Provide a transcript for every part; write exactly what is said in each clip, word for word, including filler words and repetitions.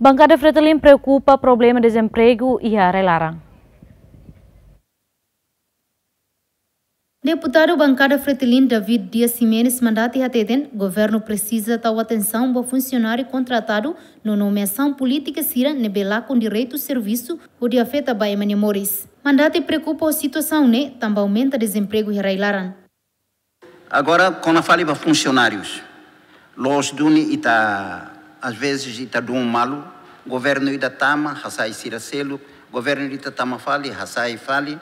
Bankada Fretilin preokupa problema dezempregu iha rai-laran. Deputadu Bankada Fretilin David Dias Ximenes Mandati hateten, governu presiza tau atensaun ba funsionáriu kontratadu no nomeasaun polítika sira ne'ebé lakon direitu servisu hodi afeta ba ema nia moris. Mandati preokupa ho situasaun ne'e tanba aumenta dezempregu iha rai-laran. Agora, kona fali ba funsionárius. Loos duni ita, às vezes, ita dún malu, governu ida tama, hasai sira seluk, governu ida tama fali, hasai fali.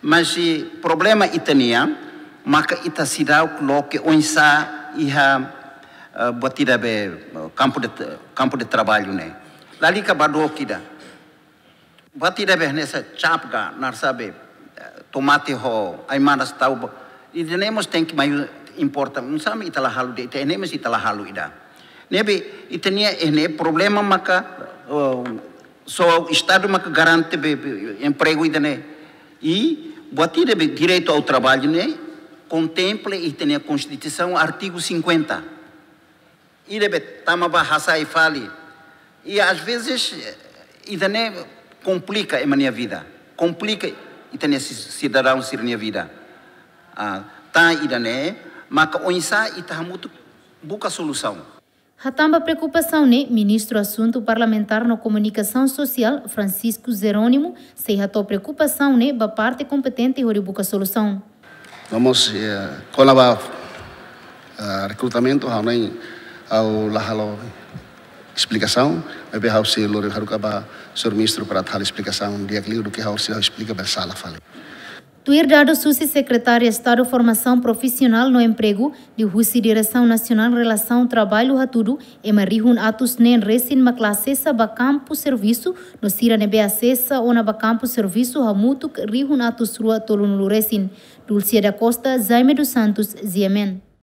Mas, eh, problema ita-nian, maka ita seidauk loke oinsá iha, eh, buat ida be, eh, kampu de, kampu de traballu ne'e. Lalika ba dook ida. Buat ida be hanesan cap ka, naran sabe, eh, tomate ho ai-manas tau ba. Ida-ne'e mós tenke mai importa. Oinsá mak ita la halo de'it, ita ne'e mós ita la halo ida. Ne'ebé, ita-nia, eh, ne'e problema maka, oh, só Estadu maka garante be, be, empregu ida-ne'e. I buat ida be direitu ao traballu ne'e, kontempla iha ita-nia Konstituisaun artigu cinquenta. Ida be tama ba hasai fali. I às vezes, eh, ida-ne'e komplika ema nia vida. Komplika ita-nia si-, sidadaun sira-nia vida. Ah, tan ida-ne'e, maka oinsá ita hamutuk buka solusaun. Hatán ba preokupasaun ne'e, Ministru Asuntu Parlamentár no Komunikasaun Sosiál, Francisco Jerónimo, sei hato'o preokupasaun ne'e ba parte kompetente hodi buka solusaun. Vamos, eh, kona-ba, eh, rekrutamentu, ha'u ne'e, ha'u la halo esplikasaun, maibé ha'u sei lori haruka ba señór ministru para atu halo esplikasaun di'ak liu duké ha'u sei esplika bele sala fali. Tuir dadus husi Sekretária Estadu Formasaun Profisionál no Empregu, liuhusi Diresaun Nasionál Relasaun Traballu hatudu, ema rihun atus neen resin mak la asesa ba kampu servisu, no sira ne'ebé asesa ona ba kampu servisu hamutuk rihun atus rua tolunulu resin. Dulcia da Costa, Jaime dos Santos, G M N.